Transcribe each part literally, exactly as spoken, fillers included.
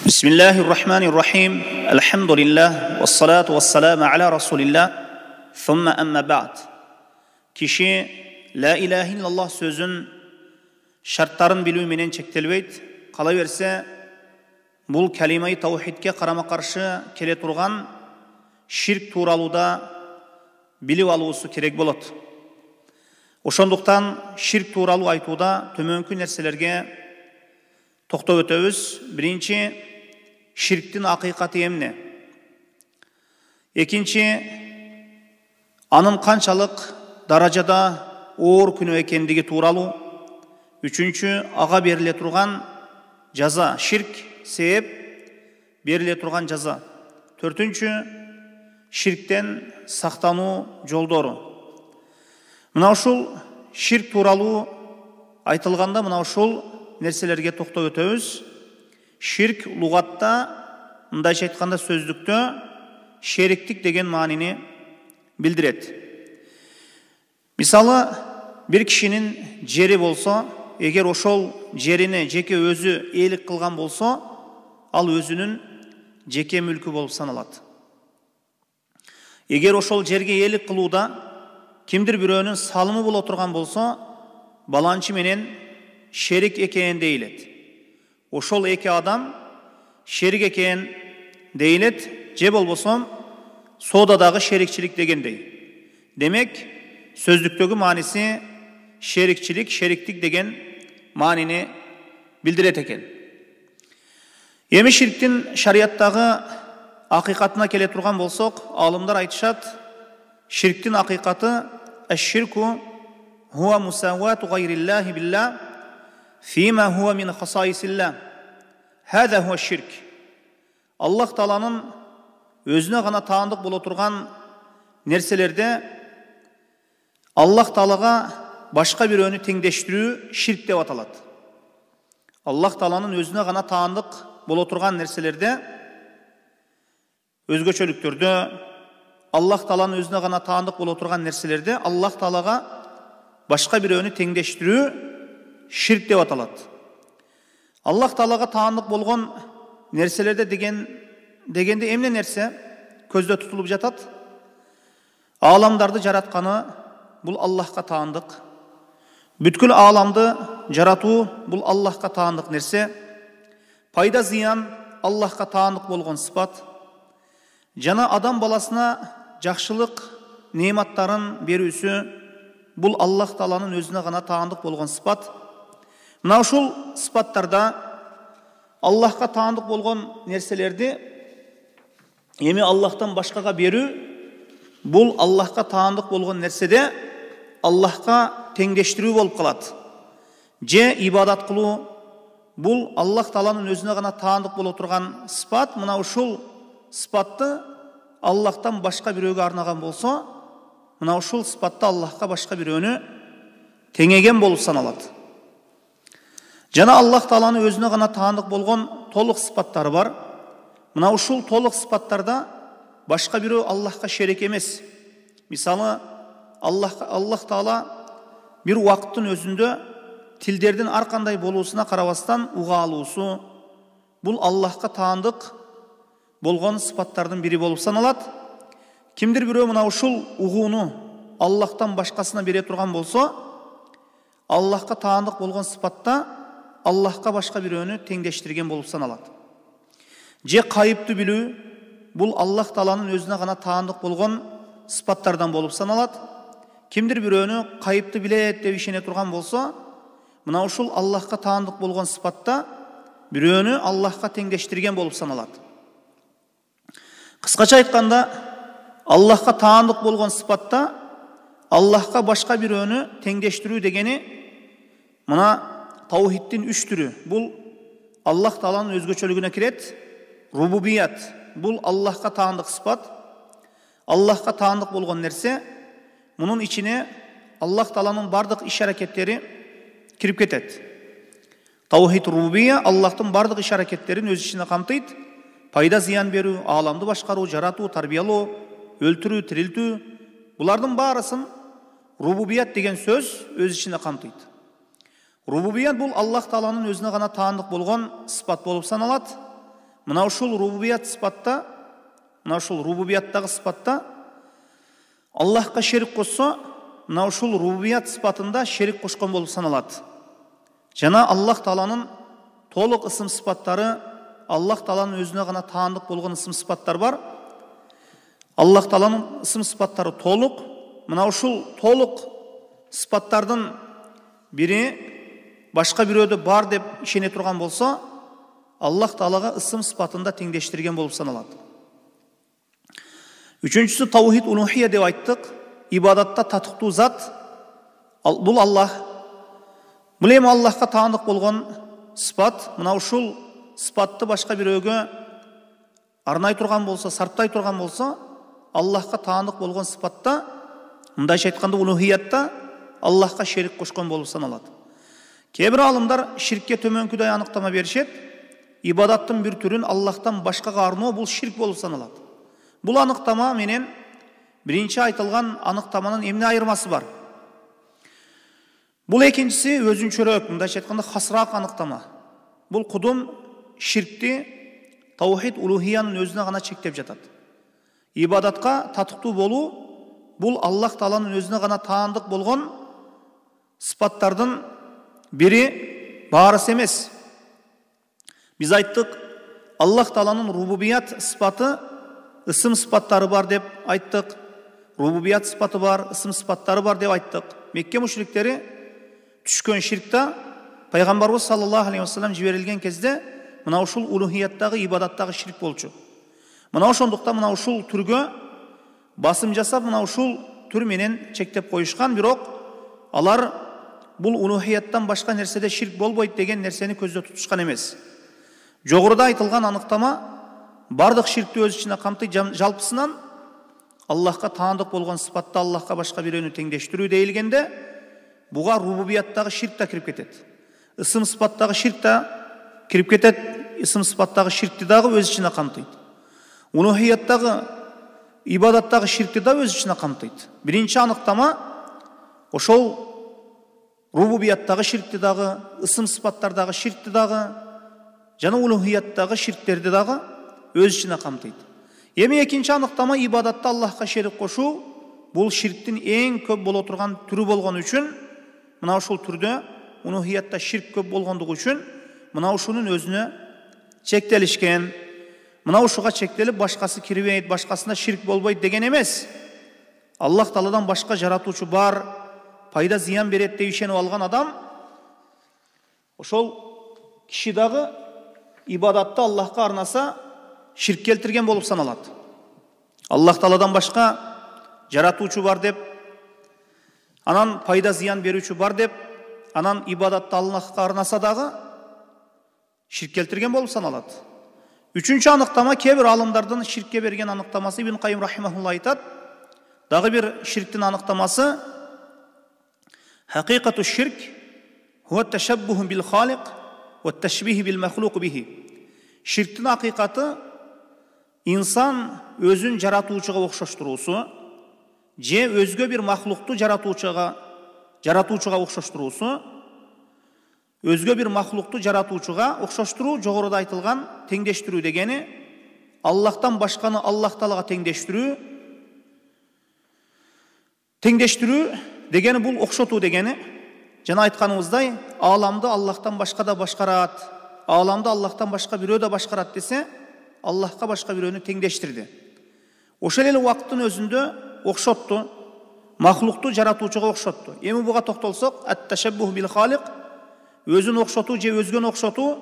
Bismillahirrahmanirrahim. Elhamdülillah. Vessalatu vesselamu ala Resulillah. Thumma amma ba'd. Kişi la ilahe illallah sözün şartların bilүү менен чектелбейт. Кала берсе, бул калимаи таухидке карама-каршы келе турган ширк тууралууда билип алуусу керек болот. Ошондуктан ширк тууралуу айтууда төмөнкү нерселерге токтоп өтөбүз. Биринчи, ширктин акыйкаты эмне? Экинчи, анын канчалык даражада оор күнөө экендиги тууралуу. Үчүнчү, ага бериле турган жаза, ширк себеп бериле турган жаза. Төртүнчү, ширктен сактануу жолдору. Мына ушул ширк тууралуу айтылганда мына ушул нерселерге токтоп өтөбүз. Ширк лугатта, мындайча айтканда сөздүктө шериктик деген маанини билдирет. Мисалы, бир кишинин жери болсо, эгер ошол жерине жеке өзү ээлик кылган болсо, ал өзүнүн жеке мүлкү болуп саналат. Эгер ошол жерге ээлик кылууда кимдир бирөөнүн салымы боло турган болсо, баланчы менен шерик экенин дейилет. Ошол эки адам шерик экен дейилет, же болбосо соодадагы шерикчилик дегендей. Демек, сөздүктөгү мааниси шерикчилик, шериктик деген маанини билдирет экен. Эми ширктин шариаттагы акыйкатына келе турган болсок, аалымдар айтышат, ширктин акыйкаты аш-ширку хуа мусавату гайриллахи билlah фима хуа мин хасаисиллах. Хада хуа ширк. Аллах Тааланын өзүнө гана таандык боло турган нерселерде Аллах Таалага башка бирөөнү теңдештирүү ширк деп аталат. Аллах Тааланын өзүнө гана таандык боло турган нерселерде, өзгөчөлүктөрдө Аллах Тааланын өзүнө гана таандык боло турган нерселерде Аллах Таалага башка бирөөнү теңдештирүү ширк деп аталат. Аллах Таалага таандык болгон нерселерде деген дегенде эмне нерсе көздө тутулуп жатат? Ааламдарды жаратканы бул Аллахка таандык. Бүткүл ааламды жаратуу бул Аллахка таандык нерсе. Пайда зыян Аллахка таандык болгон сыпат. Жана адам баласына жакшылык неаматтарын берүүсү бул Аллах Тааланын өзүнө гана таандык болгон сыпат. Мына ушул сыпаттарда Аллахка таандык болгон нерселерди эми Аллахтан башкага берүү бул Аллахка таандык болгон нерседе Аллахка теңдештирүү болуп калат. Же ибадат кылуу бул Аллах Тааланын өзүнө гана таандык боло турган сыпат. Мына ушул сыпатты Аллахтан башка бирөөгө арнаган болсо, мына ушул сыпатты Аллахка башка бирөөнү теңеген болуп саналат. Жана Аллах Тааланын өзүнө гана таандык болгон толук сыпаттары бар. Мына ушул толук сыпаттарда башка бирөө Аллахка шерик эмес. Мисалы, Аллах Аллах Таала бир убакыттын өзүндө тилдердин ар кандай болуусуна карабастан уга алуусу бул Аллахка таандык болгон сыпаттардын бири болуп саналат. Кимдир бирөө мына ушул угууну Аллахтан башкасына бере турган болсо, Аллахка таандык болгон сыпатта Аллахка башка бирөөнү теңдештирген болуп саналат. Же кайыптуу билүү бул Аллах Тааланын өзүнө гана таандык болгон сыпаттардан болуп саналат. Кимдир бирөөнү кайыптуу билет деп ишене турган болсо, мына ушул Аллахка таандык болгон сыпатта бирөөнү Аллахка теңдештирген болуп саналат. Кыскача айтканда, Аллахка таандык болгон сыпатта Аллахка башка бирөөнү теңдештирүү дегени мына таухидтин үч түрү. Бул Аллах Тааланын өзгөчөлүгүнө кирет. Рубубият бул Аллахка таандык сыпат. Аллахка таандык болгон нерсе. Мунун ичине Аллах Тааланын бардык иш-аракеттери кирип кетет. Таухид рубубия Аллахтын бардык иш-аракеттерин өз ичине камтыйт. Пайда зыян берүү, ааламды башкаруу, жаратуу, тарбиялоо, өлтүрүү, тирилтүү, булардын баарысын рубубият деген сөз өз ичине камтыйт. Рубубият бул Аллах Тааланын өзүнө гана таандык болгон сыпат болуп саналат. мына ушул рубубият сыпатта, мына ушул рубубияттагы сыпатта Аллахка шерик кошсо, мына ушул рубубият сыпатында шерик кошкон болуп саналат. Жана Аллах Тааланын толук ысым сыпаттары, Аллах Тааланын өзүнө гана таандык болгон ысым сыпаттар бар. Аллах Тааланын ысым сыпаттары толук. Мына ушул толук сыпаттардын бири башка бирөөдө бар деп ишене турган болсо, Аллах Таалага ысым сыпатында теңдештирген болуп саналат. Үчүнчүсү таухид улухия деп айттык. Ибадатта татыктуу зат. Бул Аллах. Бул эми Аллахка таандык болгон сыпат. Мына ушул сыпатты башка бирөөгө арнай турган болсо, сарптай турган болсо, Аллахка таандык болгон сыпатта, мындайча айтканда улухиятта Аллахка шерик кошкон болуп саналат. Кээ бир алымдар ширкке төмөнкүдөй аныктама беришет. Ибадаттын бир түрүн Аллахтан башкага арноо бул ширк болуп саналат. Бул аныктама менен биринчи айтылган аныктаманын эмне айырмасы бар? Бул экинчиси өзүнчөрөөк, мындайча айтканда хасыраак аныктама. Бул кудум ширкти таухид улухиянын өзүнө гана чектеп жатат. Ибадатка татыктуу болуу бул Аллах Тааланын өзүнө гана таандык болгон сыпаттардын бири, баарысы эмес. Биз айттык, Аллах Тааланын рубубият сыпаты, ысым сыпаттары бар деп айттык. Рубубият сыпаты бар, ысым сыпаттары бар деп айттык. Мекке мушриктери түшкөн ширкта пайгамбарыбыз саллаллаху алейхи вассалам жиберилген кезде мына ушул улухияттагы, ибадаттагы ширк болчу. Мына ошондуктан мына ушул түргө басым жасап, мына ушул түр менен чектеп коюшкан, бирок алар бул улухияттан башка нерседе ширк болбойт деген нерсени көздө тутушкан эмес. Жогоруда айтылган аныктама бардык ширкти өз ичине камтыйт. Жалпысынан Аллахка таандык болгон сыпатта Аллахка башка бирөөнү теңдештирүү дейилгенде, буга рубубияттагы ширк та кирип кетет. Ысым сыпаттагы ширк та кирип кетет. Ысым сыпаттагы ширкти дагы өз ичине камтыйт. Улухияттагы, ибадаттагы ширкти да өз ичине камтыйт. Биринчи аныктама ошол рубубияттагы ширкти дагы, ысым сыпаттардагы ширкти дагы, жана улухияттагы ширктерди дагы өз ичине камтыйт. Эми экинчи аныктама ибадатта Аллахка шерик кошуу бул ширктин эң көп боло турган түрү болгон үчүн, мына ушул түрдө улухиятта ширк көп болгондугу үчүн мына ушунун өзүнө чектелишкен. Мына ушуга чектелип башкасы кирбейт, башкасына ширк болбойт деген эмес. Аллах Тааладан башка жаратуучу бар, пайда зыян берет деп ишенип алган адам, ошол киши дагы ибадатты Аллахка арнаса ширк келтирген болуп саналат. Аллах Тааладан башка жаратуучу бар деп, анан пайда зыян берүүчү бар деп, анан ибадатты Аллахка арнаса дагы ширк келтирген болуп саналат. Үчүнчү аныктама, кээ бир алымдардын ширкке берген аныктамасы, Ибн Кайым рахимахулла айтат. Дагы бир ширктин аныктамасы хакыйкату ширк хуа ташаббуху бил халик ва ташбих бил махлук бихи. Ширктин акыйкаты инсан өзүн жаратуучуга окшоштуруусу, же өзгө бир махлукту жаратуучуга жаратуучуга окшоштуруусу, өзгө бир махлукту жаратуучуга окшоштуруу, жогоруда айтылган теңдештирүү дегени, Аллахтан башканы Аллах Таалага теңдештирүү. Теңдештирүү дегени бул окшотуу дегени. Жана айтканыбыздай, ааламды Аллахтан башка да башкарат, ааламды Аллахтан башка бирөө да башкарат десе, Аллахка башка бирөөнү теңдештирди. Ошол эле убакыттын өзүндө окшотту, махлукту жаратуучуга окшотту. Эми буга токтолсок, ат-ташаббух бил халик, өзүн окшотуу же өзгөнү окшотуу,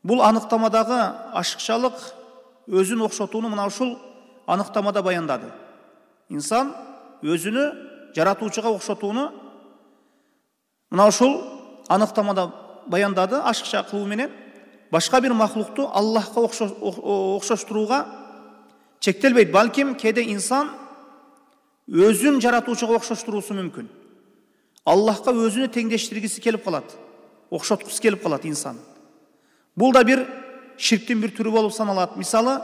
бул аныктамадагы ашыкчалык, өзүн окшотууну мына ушул аныктамада баяндады. Инсан өзүнү жаратуучуга окшотууну мына ушул аныктамада баяндады, ашыкча кылуу менен. Башка бир махлукту Аллахка окшоштурууга чектелбейт. Балким кээде инсан өзүн жаратуучуга окшоштуруусу мүмкүн. Аллахка өзүнү теңдештиргиси келип калат, окшоткусу келип калат инсан. Бул да бир ширктин бир түрү болуп саналат. Мисалы,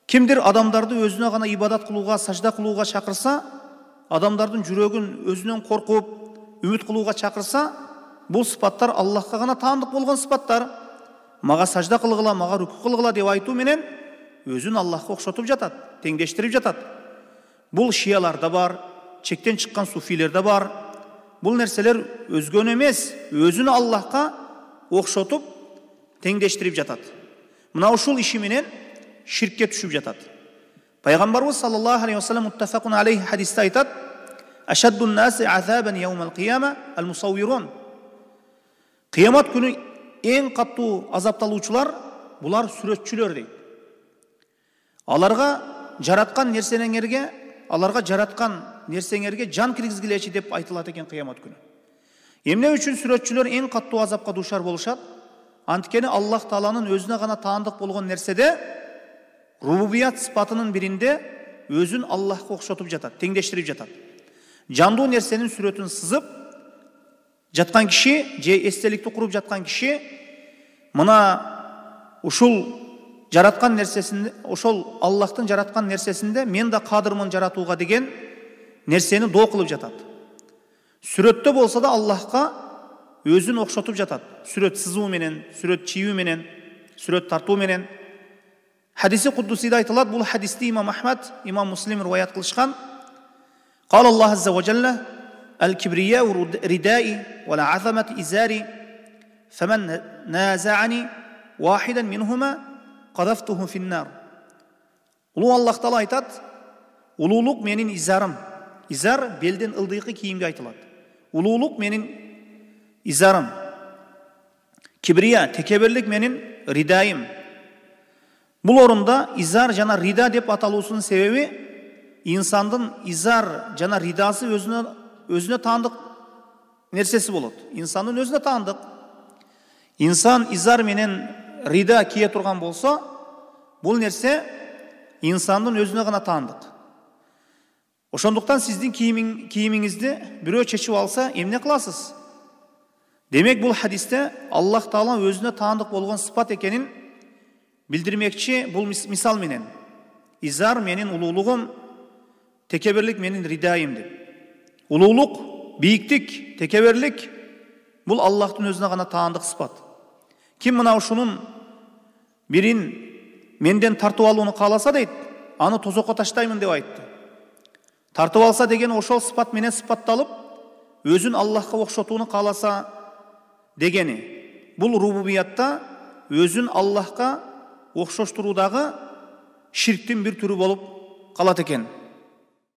кимдир адамдарды өзүнө гана ибадат кылууга, сажда кылууга чакырса, адамдардын жүрөгүн өзүнөн коркуп, үмүт кылууга чакырса, бул сыпаттар Аллахка гана таандык болгон сыпаттар. мага сажда кылгыла, мага рүкү кылгыла деп айтуу менен өзүн Аллахка окшотуп жатат, теңдештирип жатат. Бул шияларда бар, чектен чыккан суфилерде бар. Бул нерселер өзгөнү эмес, өзүн Аллахка окшотуп, теңдештирип жатат. Мына ушул иши менен ширкке түшүп жатат. Пайгамбарыбыз саллаллаху алейхи ва саллям муттафакун алейхи хадисте айтат: "Ашаддун наси азабан яумал кияма ал-мусаввирун." Кыямат күнү эң каттуу азапталуучулар булар сүрөтчүлөр дейт. Аларга жараткан нерсеңерге, аларга жараткан нерсеңерге жан киргизгилечи деп айтылат экен кыямат күнү. Эмне үчүн сүрөтчүлөр эң каттуу азапка дуушар болушат? Анткени Аллах Тааланын өзүнө гана таандык болгон нерседе, рубубият сыпатынын биринде өзүн Аллахка окшотуп жатат, теңдештирип жатат. Жандуу нерсенин сүрөтүн сызып жаткан киши, же эстеликти куруп жаткан киши мына ушул жараткан нерсесинде, ошол Аллахтын жараткан нерсесинде мен да кадырмын жаратууга деген нерсени доо кылып жатат. Сүрөттө болсо да Аллахка өзүн окшотуп жатат. Сүрөт сызуу менен, сүрөт чийүү менен, сүрөт тартуу менен. Хадиси куддусиде айтылат, бул хадисти имам Ахмад, имам Муслим риваят кылышкан. Кала Аллах азза ва жалла: "Ал-кибрияу ридаи ва ла-азамат изари, фаман назаани вахидан минхума qaдафтуху фин-нар." Улуу Аллах Таала айтат: улуулук менин изарым. Изар белден ылдыйкы кийимге айтылат. Улуулук менин изарым. Кибрия, текеберлик менин ридаим. Бул орунда изар жана рида деп аталуусунун себеби инсандын изар жана ридасы өзүнө өзүнө таандык нерсеси болот. Инсандын өзүнө таандык. Инсан изар менен рида кие турган болсо, бул нерсе инсандын өзүнө гана таандык. Ошондуктан сиздин кийимиң, кийимиңизди бирөө чечип алса, эмне кыласыз? Демек бул хадисте Аллах Таала өзүнө таандык болгон сыпат экенин билдирмекчи бул мисал менен. Изар менин улуулугум, текеберлик менин ридаим деп. Улуулук, бийиктик, текеберлик бул Аллахтын өзүнө гана таандык сыпат. Ким мына ушунун бирин менден тартып алууну кааласа дейт, аны тозокко таштаймын деп айтты. Тартып алса деген ошол сыпат менен сыпатталып, өзүн Аллахка окшотууну кааласа дегени. Бул рубубиятта өзүн Аллахка окшоштуруудагы ширктин бир түрү болуп калат экен.